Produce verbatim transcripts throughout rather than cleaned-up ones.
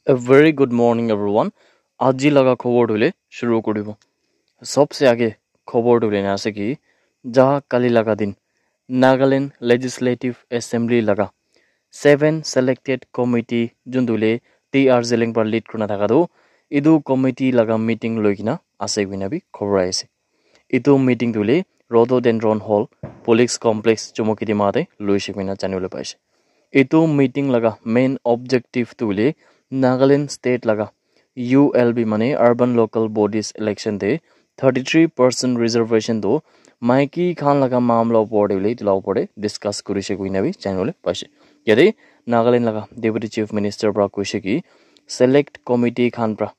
A very good morning, everyone. Aji laga khobor tu hoile shuru koribo. Sobse age khobor tu hoile na ase ki, ja kali laga din Nagaland Legislative Assembly laga seven selected committee jun tu hoile T R Zeliang para lead kurina thaka tu, etu committee laga meeting loi kina ase koina bi khobor aise. Etu meeting tu hoile Rhododendron Hall, Police Complex, Chumukedima te loise koina janibole paise. Etu meeting laga main objective tu hoile Nagaland state laga U L B mane Urban Local Bodies election te thirty three percent reservation tu maiki khan laga mamla opor te hoile etu la opor te discuss kurise koina bi janibole paise. Yate Nagaland laga Deputy Chief Minister para koise ki select committee khan para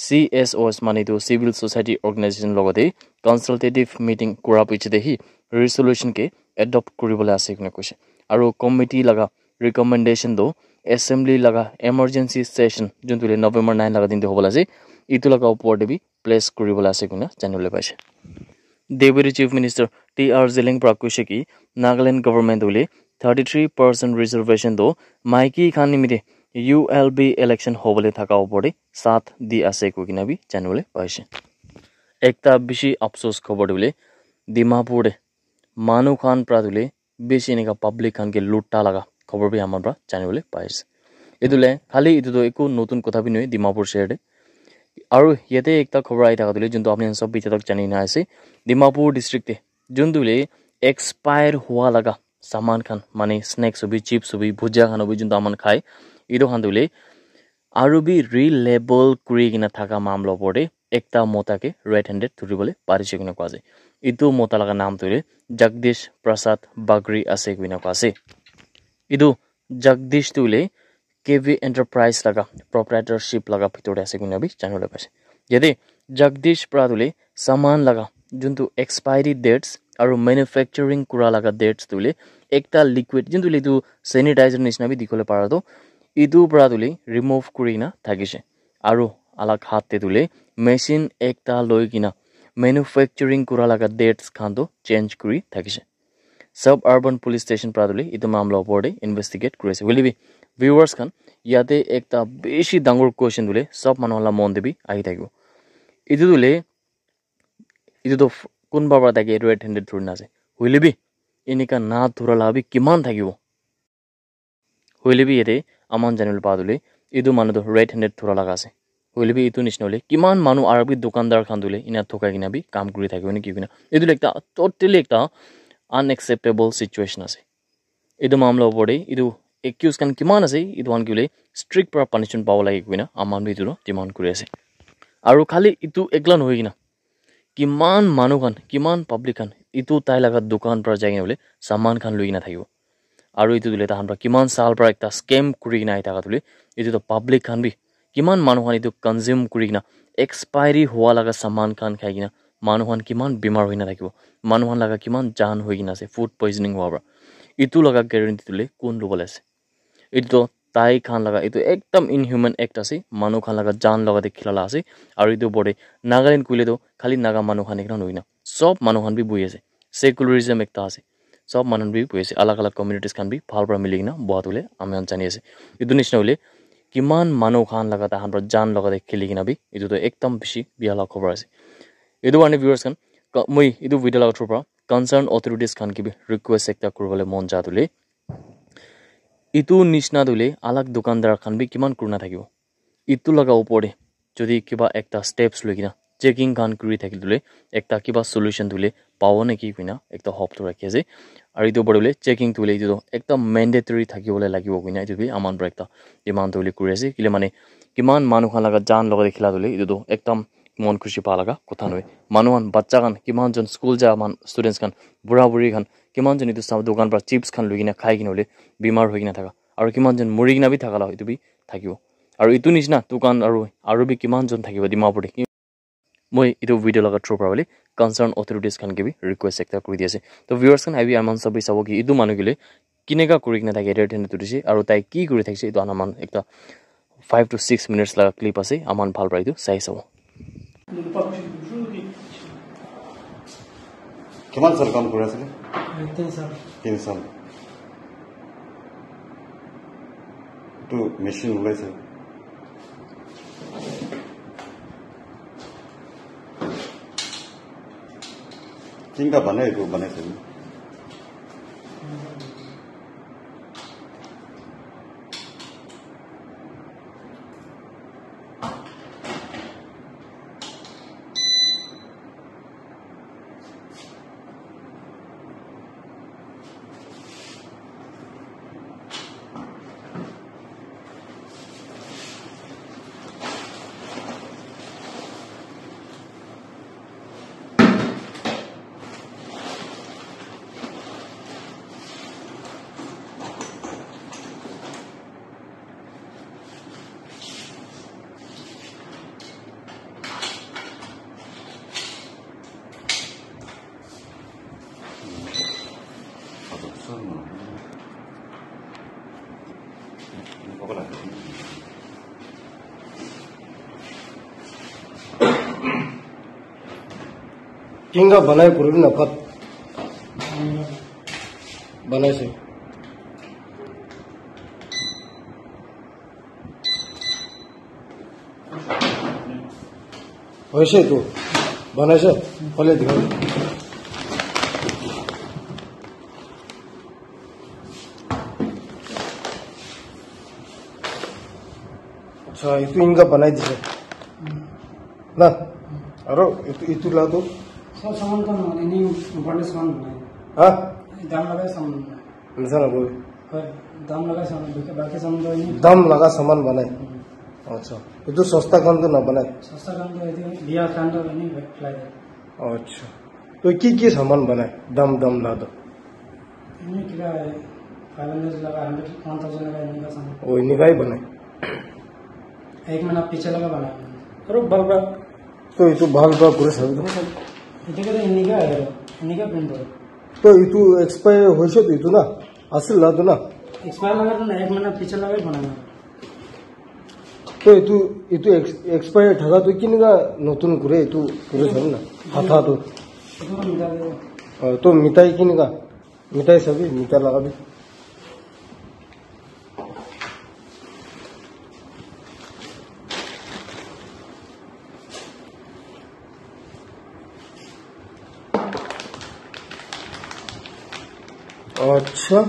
C S Os mane tu civil society organization logote consultative meeting kura piche te hi resolution ke adopt kuribole ase koina koise. Aru committee laga recommendation tu assembly laga emergency session jun tu hoile November nine laga din te hobole ase, etu laga opor te bi place kuribole ase koina janibole paise. Deputy Chief Minister T R Zeliang para koise ki Nagaland government hoile thirty three percent reservation tu maiki khan nimite U L B election hobole thaka opor te saath di ase koi kina bi janibole paise. Ekta bishi afsos khobor tu hoile Dimapur te manu khan para tu hoile bishi enika public khan ke luta laga khobor bi amar para janibole paise. Etu le khali etu tu eku notun kotha bi nohoi Dimapur share te. Aru yate ekta khobor ahi thaka tu hoile jun tu apni khan sob bi etia tak jani na ase, Dimapur district te jun tu hoile expire hua laga saman khan mane snacks hobi, chips hobi, bhujia khan hobi jun tu aman khai, etu khan tu hoile aru bi relabel kuri kina thaka mamla opor te ekta mota ke red handed dhuribole parise koina koa ase. Etu mota laga naam tu hoile Jagdish Prasad Bagri ase koina koa ase. Etu Jagdish tu hoile K V Enterprise laga proprietorship laga bhitor te ase koina bi janibole paise. Yate Jagdish para tu hoile saman laga juntu expiry dates aru manufacturing kura laga dates tu hoile ekta liquid juntu hoile etu sanitizer nisna bi dikhibole para tu etu para tu hoile remove kuri kina thakise. Aru alag hath te tu hoile machine ekta loi kina manufacturing kura laga dates khan tu change kuri thakise. Suburban Police Station para tu hoile etu mamla opor te investigate kuri ase. Hoile bi viewers khan, yate ekta bishi dangor question tu hoile sob manu la mon te bi ahi thakibo. Etu tu hoile etu tu f- kunba para tai ke red handed dhuri na ase. Hoile bi enika na dhura la bi kiman thakibo? Hoile bi yate aman janibole pa tu hoile etu manu tu red handed dhura laga ase. Hoile bi etu nishina hoile kiman manu aru bi dukandar khan tu hoile ena thokai kena bi kam kuri thakibo niki koina. Etu hoile ekta totally ekta unacceptable situation ase. Etu mamla opor te etu accused khan kiman ase, etu khan ke hoile strict para punishment pabo lage koina aman bi etu tu demand kuri ase. Aru khali etu ekla nohoi kena kiman manu khan, kiman public khan etu tai laga dukan para jai kena hoile saman khan loi kena thakibo. Aru etu tu hoile tahan para kiman saal para ekta scam kuri kena ahi thaka tu hoile etu tu public khan bi kiman manu khan etu consume kuri kena expiry hua laga saman khan khai kena manu khan kiman bimar hoi kena thakibo, manu khan laga kiman jaan hoi kena ase food poisoning hua para. Etu laga guarantee tu hoile kun lobole ase? Etu tu tai khan laga etu ekdam inhuman act ase, manu khan laga jaan laga te khila la ase. Aru etu opor te Nagaland koile tu khali Naga manu khan ekla nohoi kena sob manu khan bi bohi ase. Secularism ekta ase, sob manu khan bi bohi ase, alag alag communities khan bi bhal para mili kena boha tu hoile ami khan jani ase. Etu nishina hoile kiman manu khan laga tahan para jaan laga te khili kena bi etu tu ekdam bishi bia laga khobor ase. Etu karne viewers khan, ka- moi etu video laga through para concern authorities khan ke bi request ekta kuribole mon ja tu hoile etu nishina tu hoile alag dukandar khan bi kiman kurina thakibo. Etu laga opor te jodi kiba ekta steps loi kena checking khan kuri thakile tu hoile ekta kiba solution tu hoile pabo naki koina ekta hope tu rakhi ase. Aru etu opor te hoile checking tu hoile etu tu ekdam mandatory thakibole lagibo koina etu bi aman para ekta demand tu hoile kuri ase. Kile mane kiman manu khan laga jaan logot te khila tu hoile etu tu ekdam mon khushi pa laga kotha nohoi. Manu khan, bacha khan, kiman jon school ja man students khan, bura buri khan, kiman jon etu sab dukan para chips khan loi kena khai kena hoile bimar hoi kena thaka, aru kiman jon muri kena bi thaka la etu bi thakibo. Aru etu nishina dukan aru, aru bi kiman jon thakibo Dimapur te. Moi etu video laga through para hoile concern authorities khan ke bi request ekta kuri di ase. To viewers khan, abi aman sabi sabo ki etu manu ke le kineka kuri kena thake red handed dhuri se aru tai ki kuri thakise etu aman ekta five to six minutes laga clip ase, aman bhal para etu sai sabo. Kiman sal kam kuri asile? Tin sal. Tin sal. Etu machine ulaise? Tinga banai etu banai sabi. Kinga banai kuribi na pat. Banai se. Hoise tu. Banai se. Phale dikha. Acha, itu inga banai dise. Na? Aro itu, itu la tu? Sob saman to no, ini important saman banai. Ha? Dam laga saman banai. Misa na bol. Hoi, dam laga saman, baki, baki saman to ini. Dam laga saman banai. Hmm. Acha. Itu sosta khan to na banai? Sosta khan to itu biya khan to ini fly de. Acha. To ki ki saman banai? Dam, dam la tu. Ini kira five hundred laga, hundred, one thousand laga ini ka saman. Oh, ini ka hi banai. Ek mahina piche laga banai. Aro bhal pra. To itu bhal pra kure sabi to. Itu kira ini ka hai, ini ka print hai. To itu expire hoise to itu na? Asil la tu na? Expire laga tu na, ek mahina piche laga hi banai na. To itu, itu ex-, expire thaka tu kinika notun kure itu kure sabi na? Hatha tu. Itu na mitai de. Oh, to mitai kinika? Mitai sabi, mitai lagabi. Acha.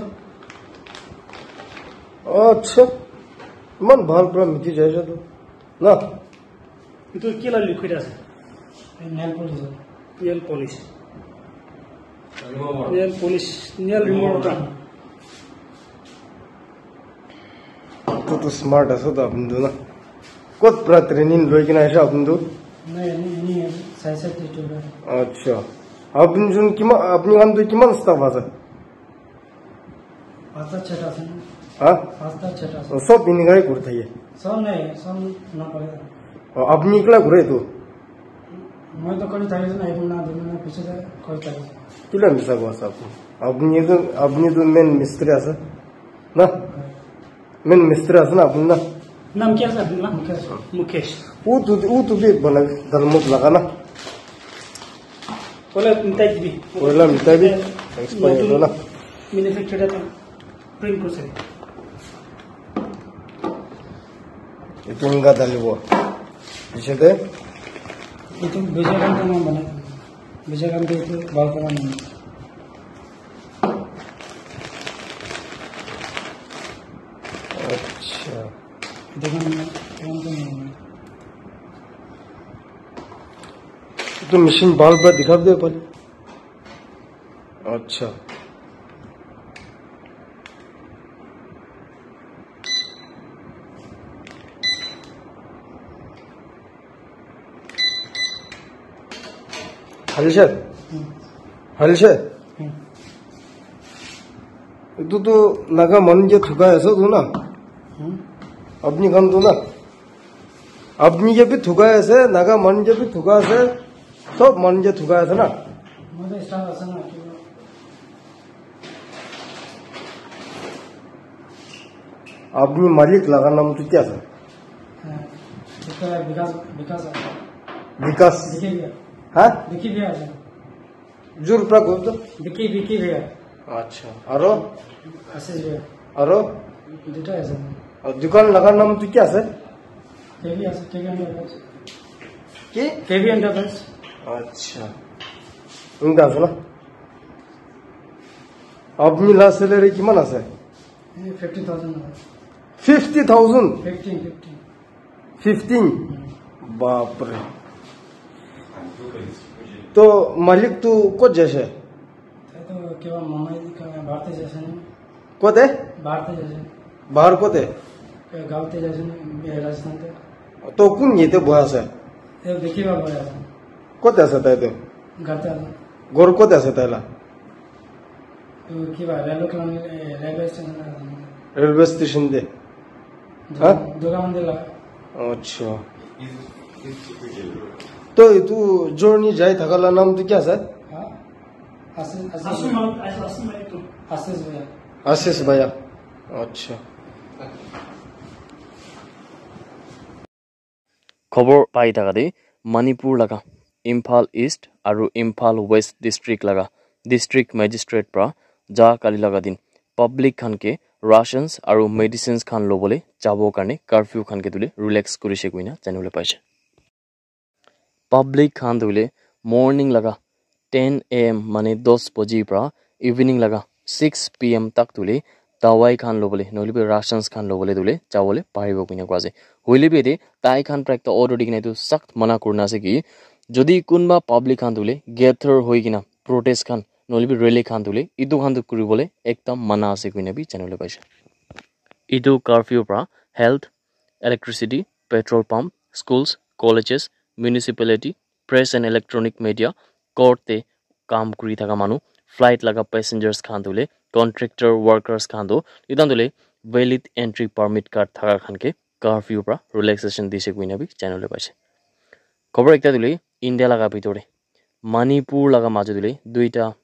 Acha. Iman bhal pura miti jai ase tu. Na? Itu ki la liquid ase? Nail polish. Nail polish. Nail polish, nail remover ta. Etu tu smart ase to apni tu na. Kot pra training loi kena ase apni tu? Nai, ani, ani, sai sai tu tu. Acha. Apni jun kiman, apni khan tu kiman staff ase? Pasta cheta ase. Ha? Pasta cheta ase. Oh, sob inikai kuri thake? Sob nai, sob na pare. Oh, apni ekla kure tu? Moi to kuri thaki ase na, ek mahina, dui mahina piche de kuri thaki ase. Kila misa koa ase apni? Apni tu, apni tu main mistri ase. Na? Main mistri ase na apni na? Naam kya ase apni na? Mukesh. Mukesh. Utu, utu bhi bana dalmut laga na. Koila mitai dibi. Koila mitai bi. Expire hoila na. Manufacturer ta print kuri sari. Etu enka dalibo. Piche de? Etu beja khan to moi banai. Beja khan to etu bhal para banai. Acha. Etu khan moi, etu khan to moi banai. Etu machine bhal para dikha de pale. Acha. Halise? Hmm. Halise? Hmm. Etu tu Naga manu ke thukai ase tu na? Hmm. Apni khan tu na? Apni ke bhi thukai ase, Naga manu ke bhi thukai ase, sob manu ke thukai ase na? Moi to staff ase na, kiba. Apni malik laga naam tu kya ase? Eh, eta Vikas, Vikas ase. Vikas? Vicky Bhaiya. Ha? Vicky Bhaiya ase. Jur pra koi to? Vicky, Vicky Bhaiya. Acha. Aro? Ashish Bhaiya. Aro? Duita ase. Aur dukan laga naam tu kya ase? K V ase, K V Enterprise. Ki? K V Enterprise. Acha. Eneka ase na? Apni la salary kiman ase? Fifty thousand. Fifty thousand? Fifteen, fifteen. Fifteen? Bapre. To malik tu kot jaise? Taito kiba mama ka bahar te jaise na. Kote? Bahar te jaise. Bahar kote? Gaon te jaise na, Rajasthan te. To kun yate boha ase? Te dekhi ba boha ase. Kote ase taito? Ghar te ase. Ghor kote ase taila? To kiba railway khan, eh, railway station na. Railway station te? Ha? Durga Mandir la. Acha. To itu journey jai thaka la naam tu kya ase? Ha? Ashish, Ashish. Ashish Bhaiya. Ashish Bhaiya. Acha. Khobor pai thaka de Manipur laga Imphal East aru Imphal West district laga district magistrate pra ja kali laga din public khan ke rations aru medicines khan lobole jabo karne curfew khan ke tule relax kurise koina janibole paise. Public khan tule morning laga ten a m mane dos baji pra evening laga six p m tak tule dawai khan lobole nohole bi rations khan lobole tule jabole paribo koina koa ase. Hoile bi yate tai khan pra ekta order di kena etu sakt mana kurina ase ki jodi kunba public khan tule gather hoi kena protest khan nohole bi rally khan tule etu khan tu kuribole ekdam mana ase koina bi janibole paise. Etu curfew pra health, electricity, petrol pump, schools, colleges, municipality, press and electronic media, court te kam kuri thaka manu, flight laga passengers khan tu le, contractor workers khan tu, itan tu le valid entry permit card thaka khan ke curfew pra relaxation dise koina bi janibole paise. Khobor ekta tu le India laga bitor te Manipur laga majot te duita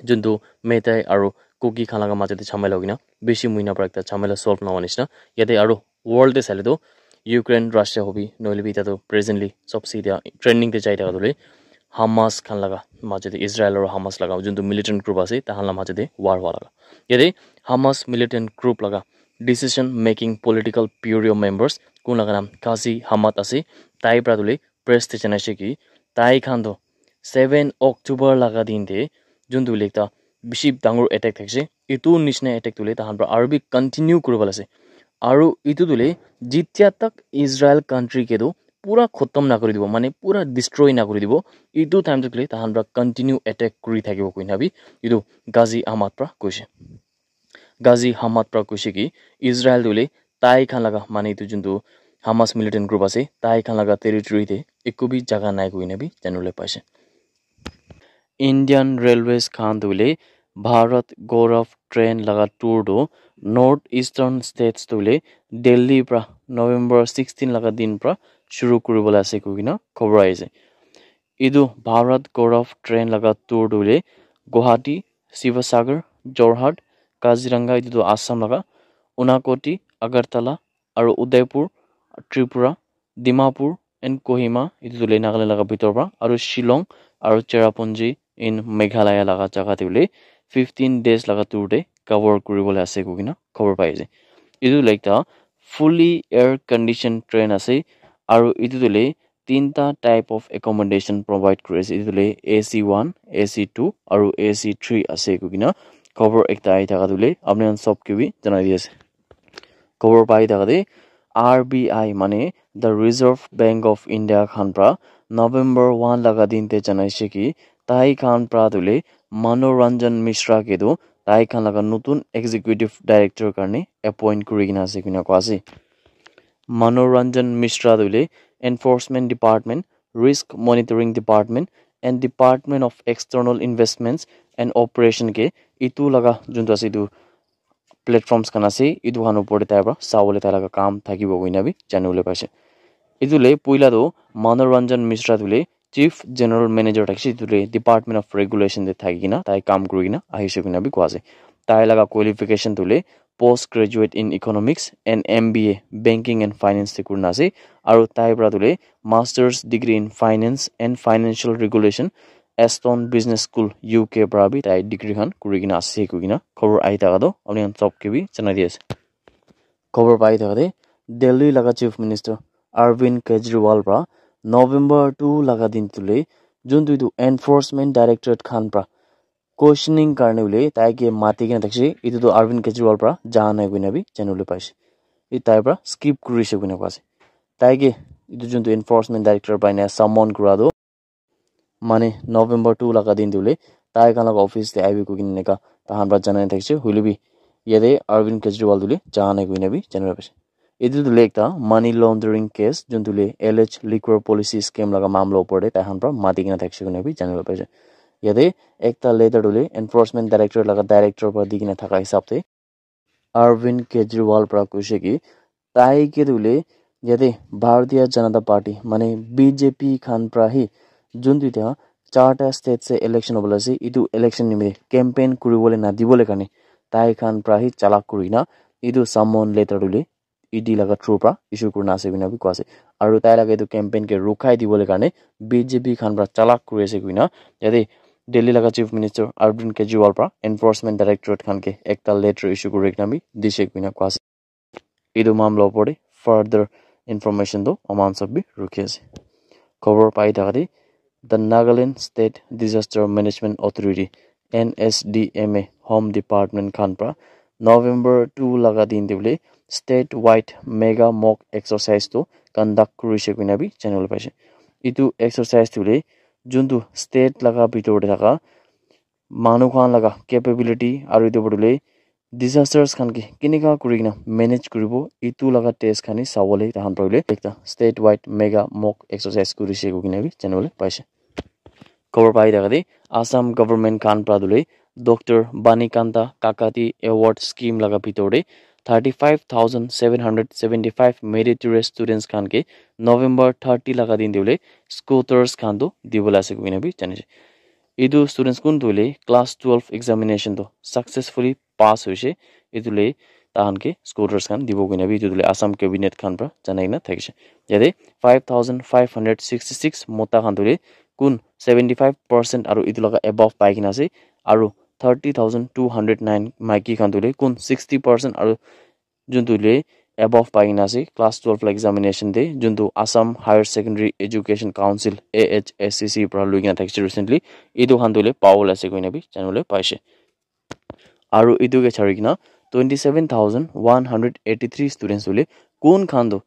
juntu Meitei aru Kuki khan laga majot te jhamela hoikena bishi muina para ekta jhamela solve nohoa nishina. Yate aru world te saile tu Ukraine, Russia hobi nohoile bi etia tu presently sobse etia trending te jai thaka tu le Hamas khan laga majot te, Israel aru Hamas laga juntu militant group ase, tahan la majot te war hua laga. Yate Hamas militant group laga decision making political bureau members kun laga naam Ghazi Hamad ase, tai para tu le press te janaise ki tai khan toh seven October laga din te juntu hoile ekta bishi dangor attack thakise, etu nishina attack tu hoile tahan para aru bi continue kuribole ase. Aru etu tu hoile jitya tak Israel country ke toh pura khotom na kuri dibo, mane pura destroy na kuri dibo, etu time tak le tahan para continue attack kuri thakibo koina bi etu Ghazi Hamad para koise. Ghazi Hamad para koise ki Israel tu hoile tai khan laga, mane etu juntu Hamas militant group ase, tai khan laga territory te eku bi jaga nai koina bi janibole paise. Indian Railways khan tu hoile Bharat Gaurav train laga tour tu North Eastern States tu hoile Delhi para November sixteen laga din para shuru kuribole ase koikena khobor ahi ase. Etu Bharat Gaurav train laga tour tu hoile Guwahati, Sivasagar, Jorhat, Kaziranga, etu tu Assam laga, Unakoti, Agartala, aru Udaipur, Tripura, Dimapur and Kohima, etu tu hoile Nagaland laga bitor para, aru Shillong aru Cherrapunji in Meghalaya laga jaga te hoile fifteen days laga tour te cover kuribole ase koikena khobor pai ase. Etu hoile ekta fully air condition train ase, aru etu tu hoile tinta type of accommodation provide kuri ase. Etu tu hoile A C one, A C two aru A C three ase koikena khobor ekta ahi thaka tu hoile apni khan sob ke bi janai di ase. Khobor pai thaka te R B I mane the Reserve Bank of India khan para November one laga din te janaise ki tai khan para tu hoile Manoranjan Mishra ke tu tai khan laga notun executive director karne appoint kuri kena ase koina koa ase. Manoranjan Mishra tu hoile Enforcement Department, Risk Monitoring Department and Department of External Investments and Operation ke etu laga juntu ase etu platforms khan ase, etu khan opor te tai para sabole tai laga kam thakibo koina bi janibole paise. Etu le puila tu Manoranjan Mishra tu le Chief General Manager thakise, etu le Department of Regulation te thaki kena tai kam kuri kena ahise koina bi koa ase. Tai laga qualification tu le post graduate in economics and M B A banking and finance te kurina ase, aru tai para tu le masters degree in finance and financial regulation Aston Business School U K para bi tai degree khan kuri kena ase koikena khobor ahi thaka toh apni khan sob ke bi janai di ase. Khobor pai thaka te Delhi laga Chief Minister Arvind Kejriwal para November two laga din tu le juntu etu enforcement directorate khan pra questioning karne hoile tai ke mati kena thakishe, etu tu Arvind Kejriwal pra ja nai koina bi janibole paishe. Etu tai pra skip kurishe koina koa ase. Tai ke etu juntu enforcement director pra ena summon kura tu mane November two laga din te hoile tai khan laga office te ahibi koikena eneka tahan pra janai thakishe, hoile bi yate Arvind Kejriwal tu le ja nai koina bi janibole paishe. Etu tu hoile ekta money laundering case, juntu hoile alleged liquor policy scam laga mamla opor te tai khan pra mati kena thakishe koina bi janibole paishe. Yate ekta letter tu hoile enforcement director laga director pra di kena thaka hisab te Arvind Kejriwal pra koishe ki tai ke tu hoile yate Bharatiya Janata Party mane B J P khan pra hi juntu etia charta state se election hobole ase, etu election nimite campaign kuribole nadibole karne tai khan pra hi chalak kurina etu summon letter tu hoile E D laga through pra issue kurina ase koina bi koa ase. Aru tai laga etu campaign ke rukhai dibole karne B J P khan pra chalak kuri ase koina yate Delhi laga Chief Minister Arvind Kejriwal pra enforcement directorate khan ke ekta letter issue kuri kena bi dishe koina koa ase. Etu mamla opor te further information tu aman sob bi rukhi ase. Khobor pai thaka te, the Nagaland State Disaster Management Authority, N S D M A, Home Department khan pra November two laga din te hoile state wide mega mock exercise tu conduct kurishe koina bi janibole paishe. Etu exercise tu hoile juntu state laga bitor te thaka manu khan laga capability aru etu opor te hoile disasters khan ke kenika kuri kena manage kuribo, etu laga test khan hi sabole tahan pra hoile ekta state wide mega mock exercise kurishe koikena bi janibole paishe. Khobor pai thaka te Assam government khan pra tu hoile Doctor Banikanta Kakati Award Scheme laga bitor te thirty five thousand seven hundred seventy five meritorious students khan ke November thirty laga din te hoile scooters khan tu dibole ase koikena bi janise. Etu students kun tu hoile class twelve examination tu successfully pass hoise. Etu le tahan ke scooters khan dibo koina bi etu le Assam cabinet khan pra janai kena thakishe. Yate five thousand five hundred sixty six mota khan tu hoile kun seventy five percent aru etu laga above pai kena ase, aru thirty thousand two hundred nine maiki khan tu hoile kun sixty percent aru juntu le above pai kena ase class twelve la examination te, juntu Assam Higher Secondary Education Council, A H S C C, pra lui kena thakishe recently. Etu khan tu hoile pawole ase koina bi janibole paishe. Aru etu ke chari kena twenty seven thousand one hundred eighty three students tu hoile kun khan tu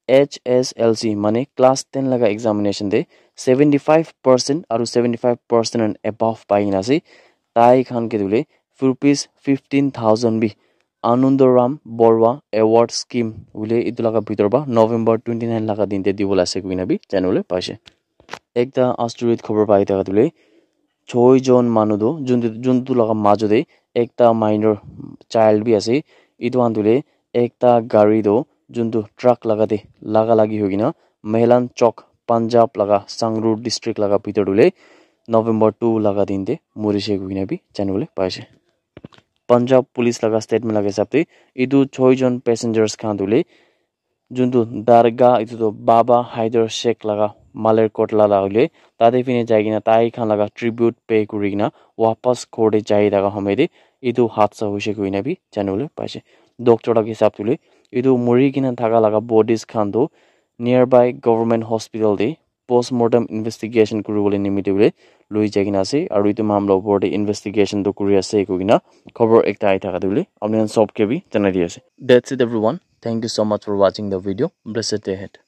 H S L C mane class ten laga examination te seventy five percent aru seventy five percent and above pai kena ase. Tai khan ke tu hoile rupees fifteen thousand bi Anandoram Borua Award Scheme hoile etu laga bitor pra November twenty nine laga din te dibole ase koina bi janibole paishe. Ekta asteroid khobor pai thaka tu hoile choi jon manu tu juntu, juntu laga majo te ekta minor child bi ase. Etu khan tu hoile ekta gari tu juntu truck laga te laga lagi hoi kena Mehlan Chowk, Punjab laga Sangrur district laga bitor tu hoile November two laga din te morishe koina bi janibole paishe. Punjab police laga statement laga hisab te etu choi jon passengers khan tu hoile juntu dargah etu tu Baba Haider Sheikh laga Malerkotla la hoile tate phine jai kena tai khan laga tribute pay kuri kena wapas ghor te jai thaka homoy te etu hadsa hoise koina bi janibole paishe. Doctor laga hisab te hoile etu muri kena thaka laga bodies khan tu nearby government hospital te postmortem investigation kuribole nimite hoile lui jai kena ase, aru etu mamla opor te investigation tu kuri ase koikena khobor ekta ahi thaka tu hoile apni khan sob ke bi janai di ase. That's it everyone. Thank you so much for watching the video. Blessed day ahead.